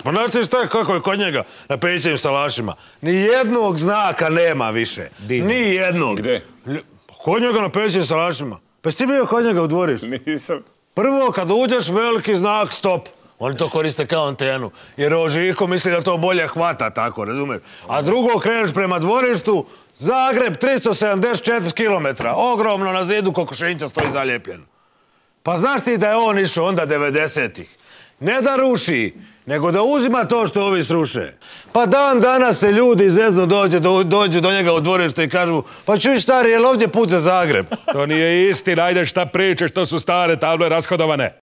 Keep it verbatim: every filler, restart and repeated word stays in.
Pa znaš ti šta je, kako je kod njega na Pejićevim salašima? Nijednog znaka nema više. Nijednog. Gde? Kod njega na Pejićevim salašima. Pa si ti bio kod njega u dvorištu? Nisam. Prvo, kad uđeš, veliki znak stop. Oni to koriste kao antenu. Jer ovo Žiko misli da to bolje hvata, tako, razumiješ? A drugo, kreneš prema dvorištu, Zagreb tristo sedamdeset četiri kilometra. Ogromno na zidu kokošinjca stoji zalijepljen. Pa znaš ti da je on išao onda devedesetih? Ne da ruši, nego da uzima to što ovi sruše. Pa dan danas se ljudi zezno dođe, dođu do njega u dvorište i kažu pa čuj stari, je li ovdje put za Zagreb? To nije istina, ajde šta pričaš, to su stare table rashodovane.